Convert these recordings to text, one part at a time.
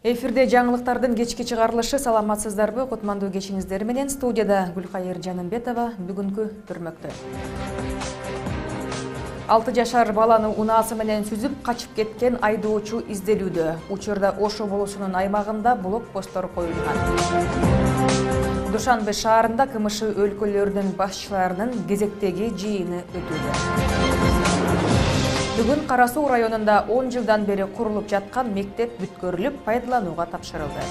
Эфирде жаңылыктардын кечки чыгарылышы. Саламатсыздарбы? Кутмандуу кечиңиздер менен студияда Гүлкайыр Жанымбетова бүгүнкү түрмөктө. 6 жашар баланы унаасы менен сүзүп качып кеткен айдоочу изделүүдө. Учурда Ошо болусунун аймагында блокпосттор коюлган. Душанбе шаарында КМШ өлкөлөрүнүн башчыларынын кезектеги жыйыны өтүүдө. Бүгүн Кара Суу районунда 10 жылдан бери курулуп жаткан мектеп бүткөрүлүп, пайдаланууга тапшырылды.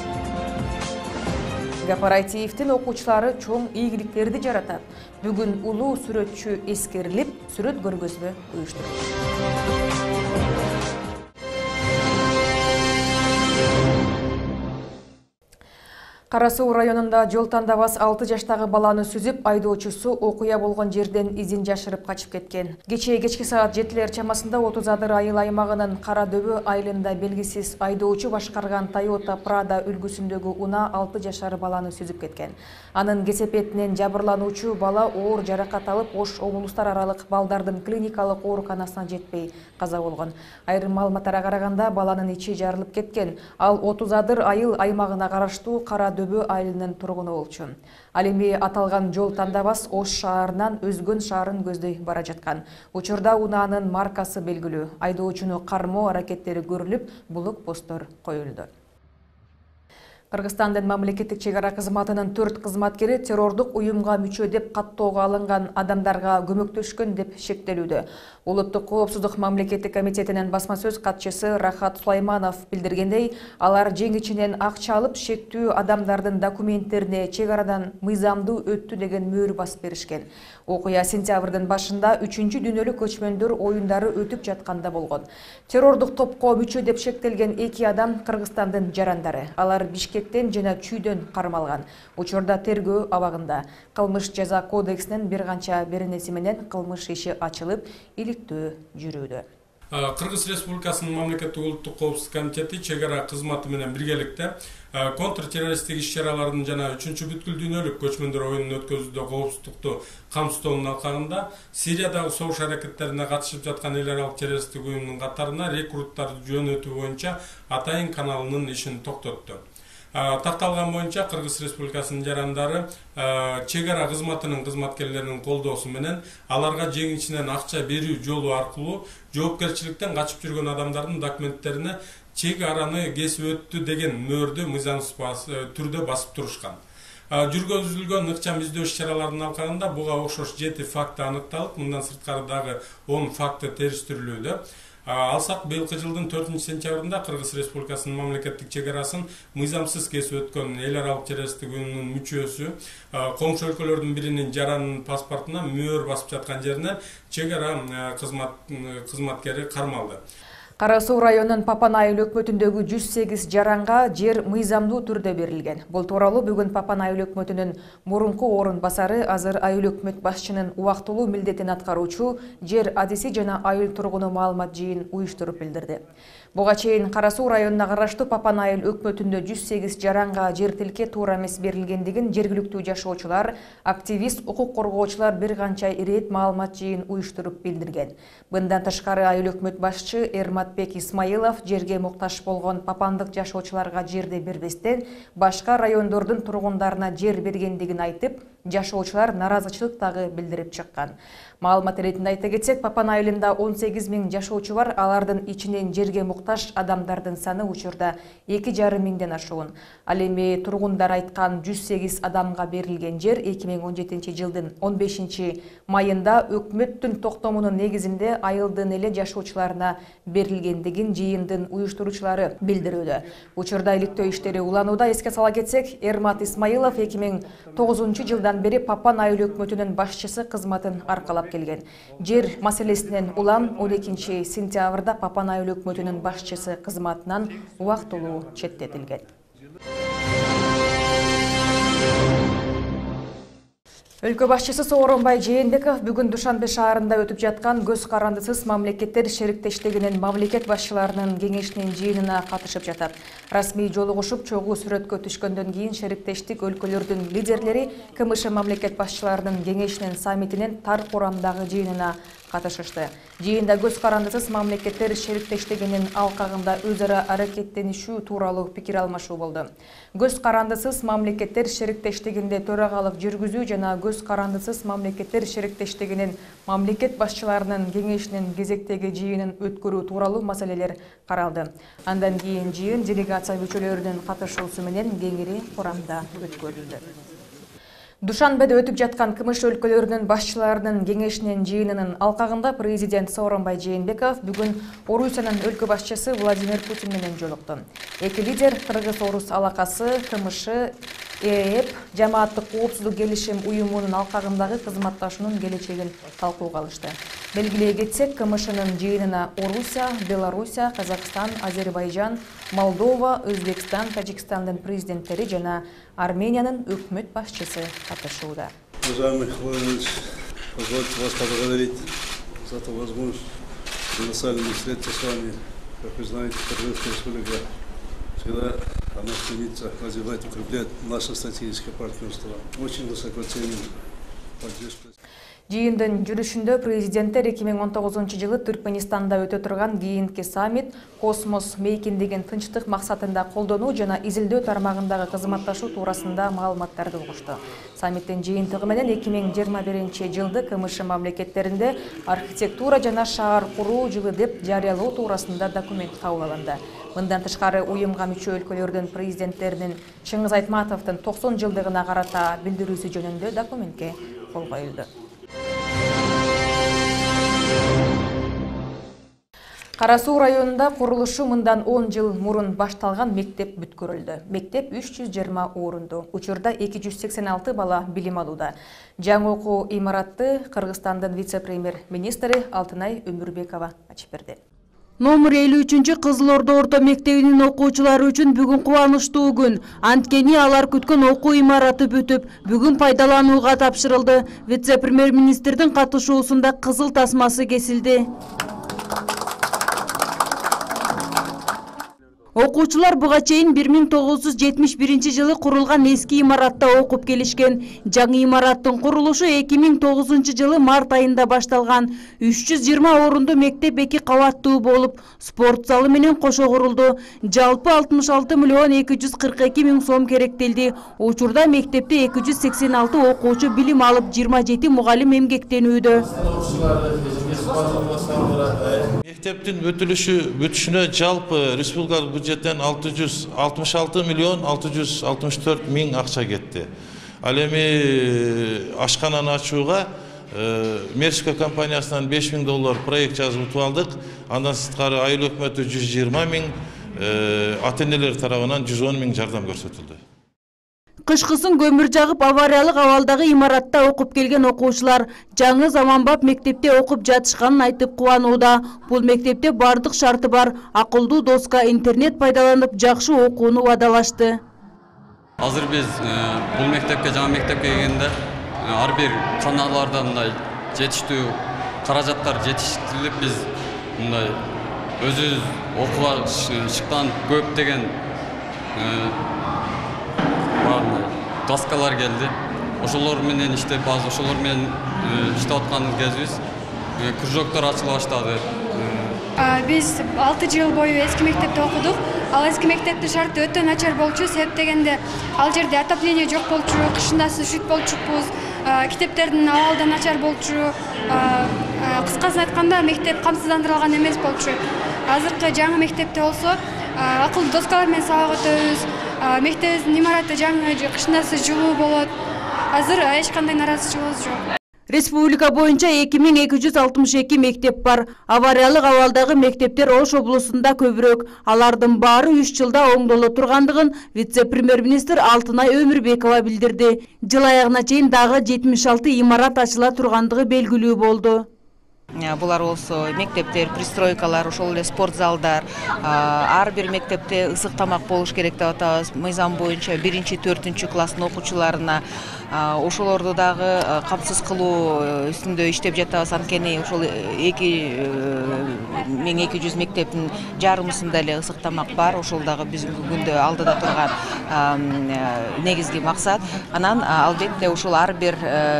Кооперативдин окуучулары чоң ийгиликтерди жаратат. Бүгүн улуу сүрөтчү эскерилип, сүрөт көргөзмө уюштурулду. Кара Суу районунда жол тандабас 6 жаштагы баланы сүзүп, айдоочусу окуя болгон жерден изин жашырып качып кеткен. Кечки саат 7 чамасында 30 адыр айыл аймагынын Кара Дөбө айылында белгисиз айдоочу башкарган Toyota Prado үлгүсүндөгү унаа 6 жашар баланы сүзүп кеткен. Анын кесепетинен жабырлануучу бала оор жаракат алып, Ош облустар аралык балдардын клиникалык ооруканасына жетпей каза болгон. Айрым маалыматтарга караганда баланын ичи жарылып кеткен. Ал 30 адыр айыл аймагына караштуу Кара Дөбө айылынын тургуну болчу. Ал эми аталган жол тандабас Ош шаарынан Өзгөн шаарын көздөй бара жаткан. Учурда унаанын маркасы белгилүү. Айдоочуну кармоо аракеттери көрүлүп, блокпосттор коюлду. Кыргызстандын мамлекеттик чек ара кызматынын 4 кызматкери террордук уюмга мүчө деп каттоого алынган адамдарга көмөктөшкөн деп шектелүүдө. Улуттук коопсуздук мамлекеттик комитетинин басма сөз катчысы Рахат Сулайманов билдиргендей, алар жең ичинен акча алып, шектүү адамдардын документтерине чек арадан мыйзамдуу өттү деген мөөр басып беришкен. Окуя сентябрдын башында 3-чү дүйнөлүк көчмөндөр оюндары өтүп жатканда болгон. Террордук топко мүчө деп шектелген 2 адам Кыргызстандын жарандары. Алар Бишкектен жана Чүйдөн кармалган. Учурда тергөө абагында. Кылмыш жаза кодексинин бир канча беренеси менен кылмыш иши ачылып, иликтөө жүрүүдө. Кыргыз Республикасынын мамлекеттик улуттук коопсуздук комитети чек ара кызматы менен биргеликте контртеррористтик иш-чаралардын жана 3-чү бүткүл дүйнөлүк көчмөндөр оюнун өткөзүүдө коопсуздукту камсыздоонун алкагында Сириядагы согуш аракеттерине катышып жаткан эл аралык террористтик уюмдун катарына рекруттарды жөнөтүү боюнча Атайын каналынын ишин токтотту. Такталган боюнча Кыргыз Республикасынын жарандары чек ара кызматынын кызматкерлеринин колдоосу менен аларга жең ичинен акча берүү жолу аркылуу жоопкерчиликтен качып жүргөн адамдардын документтерине чек араны кесип өттү деген мөөрдү мыйзамсыз түрдө басып турушкан. Жүргүзүлгөн ыкчам издөө иш-чараларынын алкагында буга окшош 7 факты аныкталып, мындан сырткары дагы 10 факты териштирилүүдө. Алсак быйылкы жылдын 4-сентябрында Кыргыз Республикасынын мамлекеттик чек арасын мыйзамсыз кесип өткөн эл аралык террористтик уюмдун мүчөсү коңшу өлкөлөрдүн биринин жаранынын паспортуна мөөр басып жаткан жеринен чек ара кызматкери кармалды. Кара Суу районунун Папан айыл өкмөтүндөгү 108 жаранга жер мыйзамдуу түрдө берилген. Бул тууралуу бүгүн Папан айыл өкмөтүнүн мурунку орун басары, азыр айыл өкмөт башчынын убактылуу милдетин аткаруучу жер адиси жана айыл тургуну маалымат жыйын уюштуруп билдирди. Буга чейин Кара Суу районуна караштуу Папан айыл өкмөтүндө 108 жаранга жер тилке туура эмес берилгендигин жергиликтүү жашоочулар, активист, укук коргоочулар бир канча ирет маалымат жыйын уюштуруп билдирген. Мындан тышкары айыл өкмөт башчы Эрматбек Исмаилов жерге муктаж болгон папандык жашоочуларга жерди бербестен башка райондордун тургундарына жер бергендигин айтып, жашоочулар наразычылык дагы билдирип чыккан. Маалымат иретинде айта кетсек, Папан айылында 18 000 жашоочу бар, алардын ичинен жерге муктаж адамдардын саны учурда 2,5 миңден ашуун. Ал эми тургундар айткан 108 адамга берилген жер 2017 жылдын 15 майында өкмөттүн токтомунун негизинде айылдын эле жашоочуларына берилгендигин жыйындын уюштуруучулары билдирүүдө. Учурда иликтөө иштери уланууда. Эске сала кетсек, Эрмат Исмаилов 2009 жылдан бери Папан айыл өкмөтүнүн башчысы кызматын аркалап келген. Жер маселесинен улам 12 сентябрда Папан айыл өкмөтүнүн башчысы кызматынан убактылуу четтетилген. Өлкө башчысы Сооронбай Жээнбеков бүгүн Душанбе шаарында өтүп жаткан көз карандысыз мамлекеттер шериктештигинин мамлекет башчыларынын кеңешинин жыйынына катышып жатат. Расмий жолугушуп чогуу сүрөткө түшкөндөн кийин шериктештик өлкөлөрдүн лидерлери КМШ мамлекет башчыларынын кеңешинин саммитинин тар курамдагы жыйынына катышышты. Жыйында көз карандысыз мамлекеттер шериктештигинин алкагында өз ара аракеттенишүү тууралуу пикир алмашуу болду. Көз карандысыз мамлекеттер шериктештигинде төрагалык жүргүзүү жана көз карандысыз мамлекеттер шериктештигинин мамлекет башчыларынын кеңешинин кезектеги жыйынын өткөрүү тууралуу маселелер каралды. Андан кийин жыйын делегация мүчөлөрүнүн катышуусу менен кеңири курамда өткөрүлдү. Душанбеде өтүп жаткан КМШ өлкөлөрүнүн башчыларынын кеңешинин жыйынынын алкагында президент Сооронбай Жээнбеков бүгүн Орусиянын өлкө башчысы Владимир Путин менен жолукту. Эки лидер Кыргыз-Орус алакасы, КМШ, ЭЭП, жамааттык коопсуздук келишим уюмунун алкагындагы кызматташуунун келечегин талкууга алышты. Белгилей кетсек, КМШнын жыйынына Орусия, Белоруссия, Казакстан, Азербайжан, Молдова, Өзбекстан, Тажикстандын президенттери жана Армениянын өкмөт башчысы катышууда. Уважаемый Владимирович, позвольте вас поблагодарить за эту возможность колоссальной встреться с вами. Как вы знаете, Кыргызская республика всегда она стремится развивать, укреплять наше стратегическое партнерство. Очень высоко ценим поддержку. Жыйындын жүрүшүндө президенттер 2019-жылы Түркменистанда өтө турган кийинки саммит космос мейкиндигин тынчтык максатында колдонуу жана изилдөө тармагындагы кызматташуу туурасында маалыматтарды угушту. Саммиттин жыйынтыгы менен 2021-жылды КМШ мамлекеттеринде архитектура жана шаар куруу жылы деп жарыялоо туурасында документ кабыл алынды. Мындан тышкары уюмга мүчө өлкөлөрдүн президенттеринин Чыңгыз Айтматовдун 90 жылдыгына карата билдирүүсү жөнүндө документке кол коюлду. Кара Суу районунда курулушу мындан 10 жыл мурун башталган мектеп бүткөрүлдү. Мектеп 320 орунду. Учурда 286 бала билим алууда. Жаңы окуу имаратты Кыргызстандын вице-премьер-министри Алтынай Өмүрбекова ачып берди. Номер 53 Кызыл Ордо орто мектебинин окуучулары үчүн бүгүн кубанычтуу күн. Анткени алар күткөн окуу имараты бүтүп, бүгүн пайдаланууга тапшырылды. Вице-премьер-министрдин катышуусунда кызыл тасмасы кесилди. Окуучулар буга чейин 1971 курулган эски имаратта окуп келишкен. Жаңы имараттын курулушу 2009 жылы март айында башталган. 320 орунду мектеп 2 кабаттуу болуп, спорт залы менен кошо курулду. Жалпы 66 миллион 242 миң сом керектелди. Учурда мектепте 286 окуучу билим алып, 27 мугалим эмгектенүүдө. Мектептин бүтүшүнө жалпы республикалык бюджеттен 666 миллион 664 миң акча кетти. Ал эми ашкананы ачууга Мерсика компаниясынан $5.000 проект жазып утуп алдык. Андан сырткары айыл өкмөтү 120 миң, ата-энелер тарабынан 110 миң жардам көрсөтүлдү. Кышкысын көмүр жагып авариялык абалдагы имаратта окуп келген окуучулар жаңы заманбап мектепте окуп жатышканын айтып кубанууда. Бул мектепте бардык шарты бар, акылдуу доска, интернет пайдаланып жакшы окууну убадалашты. Азыр биз бул мектепке, жаңы мектепке келгенде ар бир каналдарда мындай жетиштүү каражаттар жетиштирилип, биз мындай өзүбүз окууга шыктан көп деген доскалар келди. Ошолор менен иштеп, ошолор менен иштеп аткан кезибиз кружоктор ачыла баштады. Биз 6 жыл бою эски мектепте окудук. Ал эски мектептин шарты өтө начар болчу. Себеп дегенде ал жерде отопление жок болчу, кышында üşүт болчукпуз. Китептердин абалы да начар болчу. Кыскасын айтканда мектеп камсыздандырылган эмес болчу. Азыркы жаңы мектепте болсо акылдуу доскалар менен сабак өтөбүз. Мектебибиздин имараты жаңы, кышындасы жылуу болот. Азыр эч кандай наразычылыгыбыз жок. Республика боюнча 2262 мектеп бар. Авариялык абалдагы мектептер Ош облусунда көбүрөөк. Алардын баары 3 жылда оңдоло тургандыгын вице-премьер-министр Алтынай Өмүрбекова билдирди. Жыл аягына чейин дагы 76 имарат ачыла тургандыгы белгилүү болду. Булар болсо мектептер, пристройкалар, ошол эле спорт залдар, ар бир мектепте ысык тамак болуш керек деп атабыз. Мыйзам боюнча 1-4 класстын окуучуларына ошолорду дагы камсыз кылуу үстүндө иштеп жатабыз. Анткени ошол 2200 мектептин жарымысында эле ысык тамак бар. Ошол дагы бүгүнкү күндө алдыда турган негизги максат. Анан албетте ушул ар бир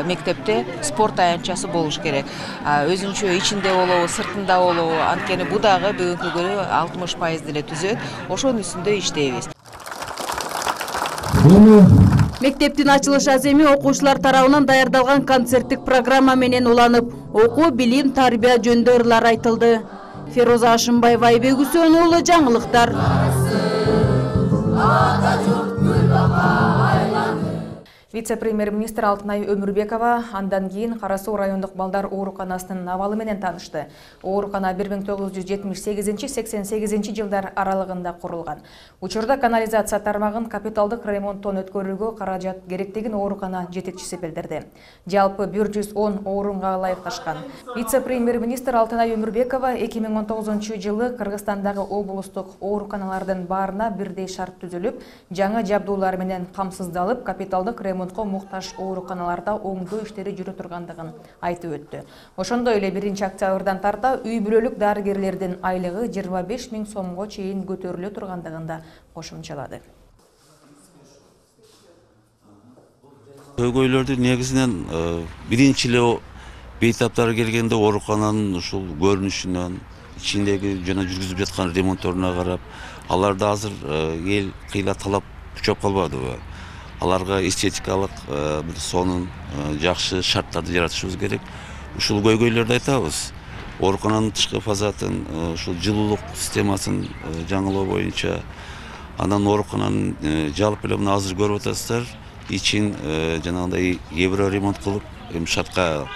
мектепте спорт аянтчасы болуш керек. Өзүнчө ичинде болобу, сыртында болобу, анткени бу дагы бүгүнкү күнү 60% деле түзөт. Ошонун үстүндө иштейбиз. Мектептин ачылыш аземи окуучулар тарабынан даярдалган концерттик программа менен уланып, окуу, билим, тарбия жөнүндө ырлар айтылды. Фероза Ашымбаева, Айбек Үсөнов уулу, жаңылыктар. Вице-премьер-министр Алтынай Өмүрбекова андан кийин Кара Суу райондук балдар ооруканасынын абалы менен таанышты. Оорукана 1978-88 жылдар аралыгында курулган. Учурда канализация тармагын капиталдык ремонттон өткөрүүгө каражат керектигин оорукана жетекчиси билдирди. Жалпы 110 орунга ылайыкташкан. Вице-премьер-министр Алтынай Өмүрбекова 2019 жылы Кыргызстандагы облустук ооруканалардын баарына бирдей шарт түзүлүп, жаңы жабдуулар менен камсыздалып, капиталдык ремонтко муктаж ооруканаларда оңдоо иштери жүрө тургандыгын айтып өттү. Ошондой эле 1-октябрдан тарта үй бүлөлүк дарыгерлердин айлыгы 25 000 сомго чейин көтөрүлө тургандыгын да кошумчалады. Көйгөйлөрдү негизинен биринчи эле бейтаптары келгенде оорукананын ушул көрүнүшүнөн, ичиндеги жана жүргүзүп жаткан ремонтторуна карап, аларда азыр эл кыйла талап күчөп калбадыбы? Аларга эстетикалык бир сонун жакшы шарттарды жаратышыбыз керек. Ушул көйгөйлөрдү айтабыз. Оорукананын тышкы фазатын, ушул жылуулук системасын жаңылоо боюнча, андан оорукананын жалпы эле мына азыр көрүп атасыздар, ичин жанагындай евро ремонт кылып, шартка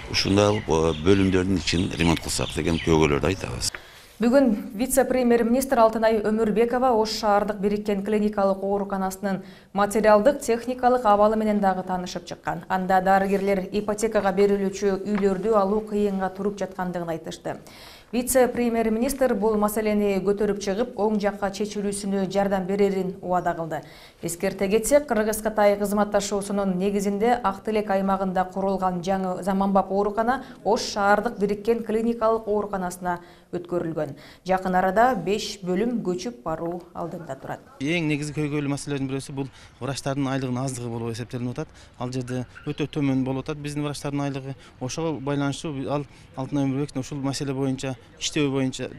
ушундай бөлүмдөрдүн ичин ремонт кылсак деген көйгөйлөрдү айтабыз. Бүгүн вице-премьер-министр Алтынай Өмүрбекова Ош шаардык бириккен клиникалык ооруканасынын материалдык, техникалык абалы менен дагы таанышып чыккан. Анда дарыгерлер ипотекага берилүүчү үйлөрдү алуу кыйынга туруп жаткандыгын айтышты. Вице-премьер-министр бул маселени көтөрүп чыгып, оң жакка чечилүүсүнө жардам берерин убада кылды. Эскерте кетсек, Кыргыз-Кытай кызматташуусунун негизинде Ак Тилек аймагында курулган жаңы заманбап оорукана Ош шаардык бириккен клиникалык ооруканасына өткөрүлгөн. Жакын арада 5 бөлүм көчүп баруу алдында турат. Эң негизги көйгөйлүү маселелердин бирөөсү бул врачтардын айлыгынын аздыгы болуп эсептелип атат. Ал жерде өтө төмөн болуп атат биздин врачтардын айлыгы. Ошого байланыштуу ал Алтынай Өмүрбековдун ушул маселе боюнча иштөө боюнча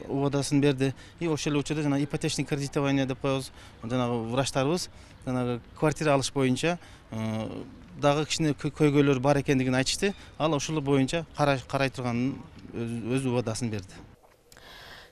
убадасын берди. Ошол эле учурда жана ипотечный кредитование деп коебуз. Жанагы врачтарыбыз жанагы квартира алыш боюнча дагы кичине көйгөйлөр бар экендигин айтышты. Ал ошол боюнча карай турганын өз убадасын берди.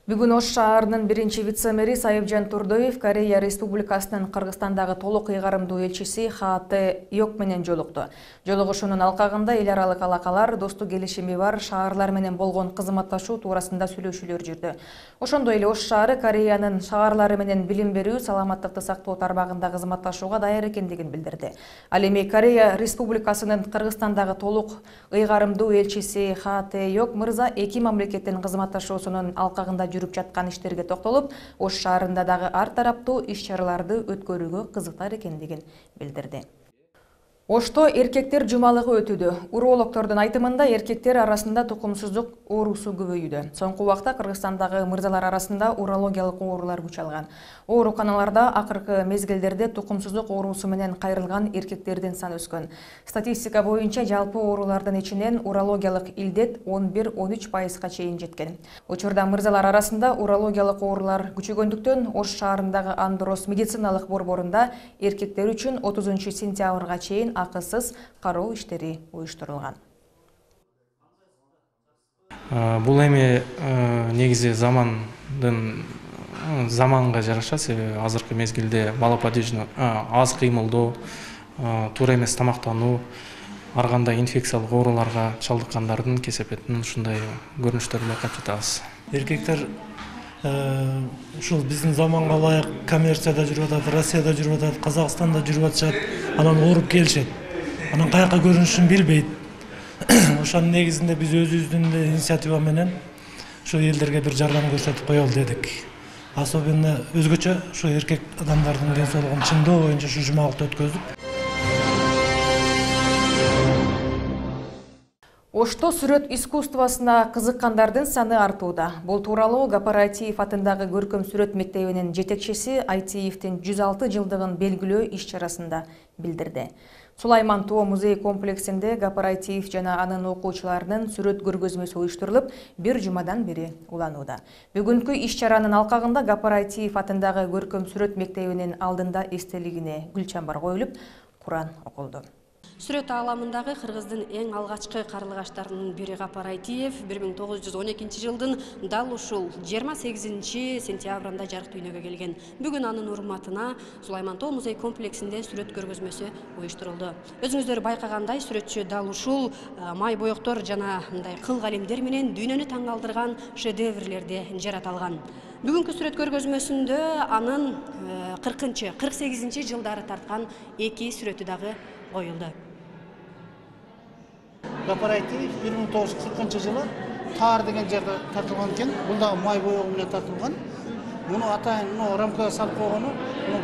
Бүгүн Ош шаарынын биринчи вице-мэри Сайыпжан Турдоев Корея Республикасынын Кыргызстандагы толук ыйгарымдуу элчиси Хате Йок менен жолукту. Жолугушуунун алкагында эл аралык алакалар, достук келишими бар шаарлар менен болгон кызматташуу туурасында сүйлөшүүлөр жүрдү. Ошондой эле Ош шаары Кореянын шаарлары менен билим берүү, саламаттыкты сактоо тармагында кызматташууга даяр экендигин билдирди. Ал эми Корея Республикасынын Кыргызстандагы толук ыйгарымдуу элчиси Хате Йок мырза эки мамлекеттин кызматташуусунун алкагында жүрүп жаткан иштерге токтолуп, Ош шаарында дагы ар тараптуу иш-чараларды өткөрүүгө кызыктар экендигин билдирди. Ошто эркектер жумалыгы өтүүдө. Урологдордун айтымында эркектер арасында тукумсуздук оорусу көбөйүүдө. Соңку убакта Кыргызстандагы мырзалар арасында урологиялык оорулар күч алган. Ооруканаларда акыркы мезгилдерде тукумсуздук оорусу менен кайрылган эркектердин саны өскөн. Статистика боюнча жалпы оорулардын ичинен урологиялык илдет 11-13%га чейин жеткен. Учурда мырзалар арасында урологиялык оорулар күчөгөндүктөн Ош шаарындагы Андрос медициналык борборунда эркектер үчүн 30 сентябрга чейин акысыз кароо иштери уюштурулган. Бул эми негизи заманга жараша, себеби азыркы мезгилде малоподвижный аз кыймылдоо, туура эмес тамактануу, ар кандай инфекциялык ооруларга чалдыккандардын кесепетинин ушундай көрүнүштөрүн байкап жатабыз. Эркектер ушул биздин заманга ылайык коммерцияда жүрүп атат, Россияда жүрүп атат, Казакстанда жүрүп атышат, анан ооруп келишет. Анан каяка көрүнүшүн билбейт. Ошонун негизинде биз өзүбүздүн инициатива менен ушу элдерге бир жардам көрсөтүп коелу дедик. Особенно өзгөчө ушу эркек адамдардын ден соолугун чыңдоо боюнча ушу жумалыкты өткөздүк. Ошто сүрөт искусствосуна кызыккандардын саны артууда. Бул тууралуу Гапар-Айтиев атындагы көркөм сүрөт мектебинин жетекчиси Айтиевдин 106 жылдыгын белгилөө иш-чарасында билдирди. Сулайман Тоо музей комплексинде Гапар-Айтиев жана анын окуучуларынын сүрөт көргөзмөсү уюштурулуп, бир жумадан бери уланууда. Бүгүнкү иш-чаранын алкагында Гапар-Айтиев атындагы көркөм сүрөт мектебинин алдында эстелигине гүл чамбар коюлуп, Куран окулду. Сүрөт ааламындагы кыргыздын эң алгачкы карлыгаштарынын бири Гапар-Айтиев 1912 жылдын дал ушул 28 сентябрында жарык дүйнөгө келген. Бүгүн анын урматына Сулайман Тоо музей комплексинде сүрөт көргөзмөсү уюштурулду. Өзүңүздөр байкагандай, сүрөтчү дал ушул май боектор жана мындай кыл калемдер менен дүйнөнү таң калтырган шедеврлерди жарата алган. Бүгүнкү сүрөт көргөзмөсүндө анын 48 жылдары тарткан 2 сүрөтү дагы коюлду. Гапар-Айтиев 1940 жылы Таар деген жерде тартылган экен. Бул да май боегу менен тартылган. Муну атайын рамкага салып койгону,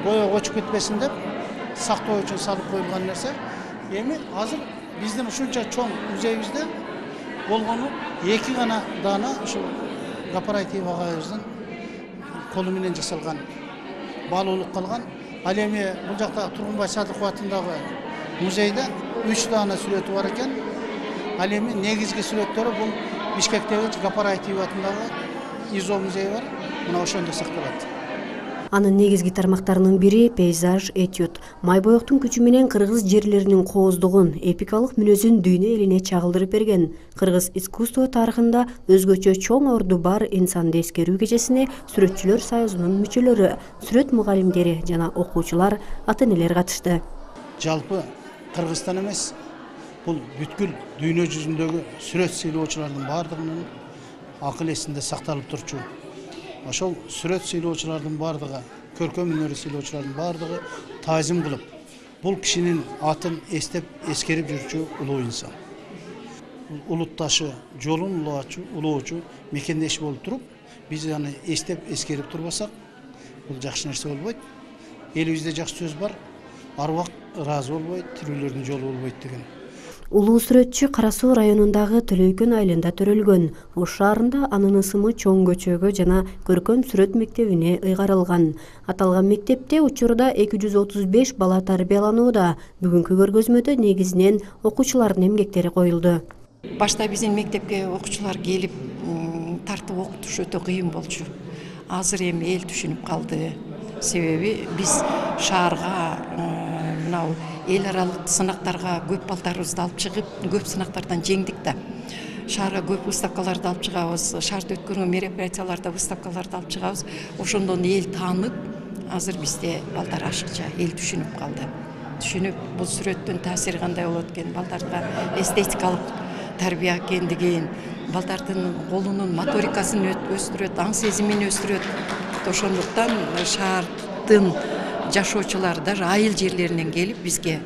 боек өчүп кетпесин деп сактоо үчүн салып коюлган нерсе. Эми азыр биздин ушунча чоң музейибизде болгону 2 гана даана ушу Гапар-Айтиев агайыбыздын колу менен жасалган баалуулук калган. Ал эми бул жакта Тургунбай Садыков атындагы музейде 3 даана сүрөтү бар экен. Ал эми негизги сүрөттөрү бул Бишкектеги Гапар-Айтиев атындагы ИЗО музейи бар. Мына ошондо сакталат. Анын негизги тармактарынын бири пейзаж, этюд. Май боектун күчү менен кыргыз жерлеринин кооздугун, эпикалык мүнөзүн дүйнө элине чагылдырып берген. Кыргыз искусство тарыхында өзгөчө чоң орду бар инсанды эскерүү кечесине сүрөтчүлөр союзунун мүчөлөрү, сүрөт мугалимдери жана окуучулар, ата-энелер катышты. Жалпы Кыргызстан эмес, бул бүткүл дүйнө жүзүндөгү сүрөт сыйлоочулардын бардыгынын акыл эсинде сакталып турчу. Ошол сүрөт сыйлоочулардын бардыгы, көркөм өнөр сыйлоочулардын бардыгы таазим кылып, бул кишинин атын эстеп, эскерип жүрчү улуу инсан. Улутташы, жолун улоочу, мекендеш болуп туруп, биз аны эстеп, эскерип турбасак, бул жакшы нерсе болбойт. Элибизде жакшы сөз бар, арбак ыраазы болбойт, тирүүлөрдүн жолу болбойт деген. Улуу сүрөтчү Кара Суу районундагы Төлөйкөн айылында төрөлгөн. Ош шаарында анын ысымы чоң көчөгө жана көркөм сүрөт мектебине ыйгарылган. Аталган мектепте учурда 235 бала тарбияланууда. Бүгүнкү көргөзмөдө негизинен окуучулардын эмгектери коюлду. Башта биздин мектепке окуучулар келип тартып окутуш өтө кыйын болчу. Азыр эми эл түшүнүп калды. Себеби биз шаарга мынау эл аралык сынактарга көп балдарыбызды алып чыгып, көп сынактардан жеңдик да. Шаарга көп выставкаларды алып чыгабыз, шаарда өткөргөн мероприятияларда выставкаларды алып чыгабыз. Ошондон эл таанып, азыр бизде балдар ашыкча, эл түшүнүп калды. Түшүнүп, бул сүрөттүн таасири кандай болот экен, балдарга эстетикалык тарбия экендигин, балдардын колунун моторикасын өстүрөт, аң сезимин өстүрөт. Ошондуктан шаардын жашоочулар даже айыл жерлеринен келип бизге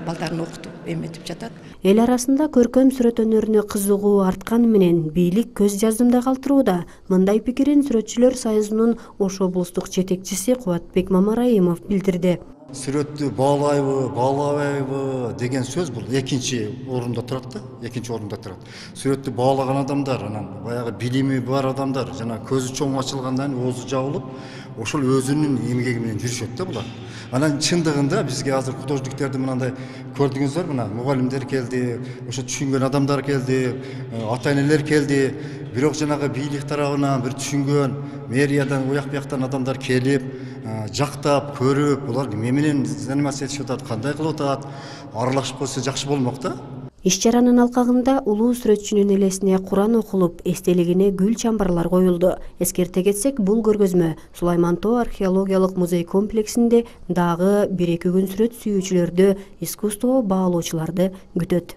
балдарын окутуп эметип жатат. Эл арасында көркөм сүрөт өнөрүнө кызыгуу артканы менен бийлик көз жаздымда калтырууда. Мындай пикирин сүрөтчүлөр союзунун Ош облустук жетекчиси Кубатбек Мамараимов билдирди. Сүрөттү баалайбы, баалабайбы деген сөз бул экинчи орунда турат да, экинчи орунда турат. Сүрөттү баалаган адамдар, анан баягы билими бар адамдар, жана көзү чоң ачылгандан оозу жабылып, ошол өзүнүн эмгеги менен жүрүшөт да булар. Анан чындыгында бизге азыр художниктерди мындай көрдүңүздөр, мына мугалимдер келди, ошо түшүнгөн адамдар келди, ата-энелер келди. Бирок жанагы бийлик тарабынан бир түшүнгөн мэриядан, уяк бияктан адамдар келип, жактап, көрүп, булар эмне менен заниматься этишип атат, кандай кылып атат, аралашып койсо жакшы болмок да. Иш-чаранын алкагында улуу сүрөтчүнүн элесине Куран окулуп, эстелигине гүл чамбарлар коюлду. Эскерте кетсек, бул көргөзмө Сулайман Тоо археологиялык музей комплексинде дагы 1-2 күн сүрөт сүйүүчүлөрдү, искусство баалоочуларды күтөт.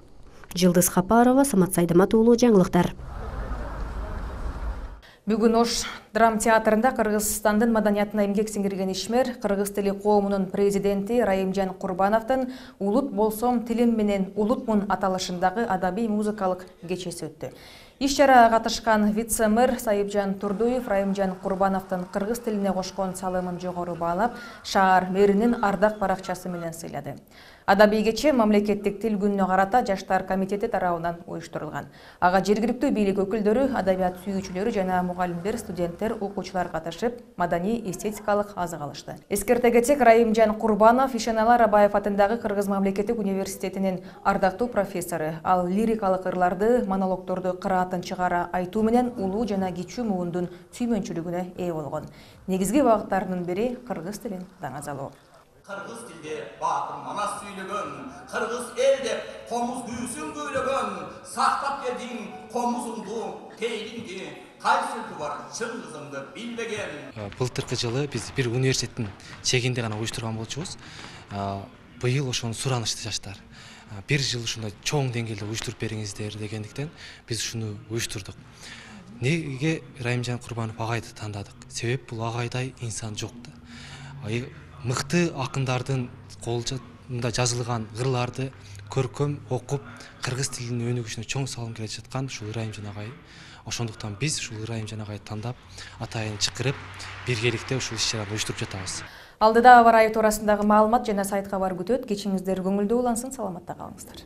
Жылдыз Хапарова, Самат Сайдамат уулу, жаңылыктар. Бүгүн Ош драм театрында Кыргызстандын маданиятына эмгек сиңирген ишмер кыргыз тили коомунун президенти Райымжан Курбановдун «Улут болсом тилим менен улутмун» аталышындагы адабий музыкалык кечеси өттү. Иш-чарага катышкан вице-мэр Сайыпжан Турдуев Райымжан Курбановдун кыргыз тилине кошкон салымын жогору баалап, шаар мэринин ардак баракчасы менен сыйлады. Адабий кече мамлекеттик тил күнүнө карата жаштар комитети тарабынан уюштурулган. Ага жергиликтүү бийлик өкүлдөрү, адабият сүйүүчүлөрү жана мугалимдер, студенттер, окуучулар катышып, маданий эстетикалык азык алышты. Эскерте кетсек, Райымжан Курбанов Ишенала Рабаев атындагы Кыргыз мамлекеттик университетинин ардактуу профессору. Ал лирикалык ырларды, монологдорду кыраатын чыгара айтуу менен улуу жана кичүү муундун сүймөнчүлүгүнө ээ болгон. Негизги багыттарынын бири кыргыз тилин даңазалоо. Кыргыз tilde батыр манас сүйлөгөн, кыргыз эл деп комуз күүсүн күйлөгөн, сактап келдиң комузуңду, тейлиңди, кайсылы бар чын кызыңды билбеген. Былтыркы жылы биз бир университеттин чегинде гана уюштурган болчубуз. Быйыл ошону суранышты жаштар. Бир жыл ушундай чоң деңгээлде уюштуруп бериңиздер дегендиктен биз ушуну уюштурдук. Неге Райымжан Курбанов агайды тандадык? Себеп бул агайдай инсан жок да. Мыкты акындардын колунда жазылган ырларды көркөм окуп, кыргыз тилинин өнүгүшүнө чоң салым келе жаткан ушул Райымжан агай. Ошондуктан биз ушул Райымжан агайды тандап, атайын чакырып, биргеликте ушул иш-чараны уюштуруп жатабыз. Алдыда аба ырайы туурасындагы маалымат жана сайтка бар күтөт. Кечиңиздер көңүлдүү улансын, саламатта калыңыздар.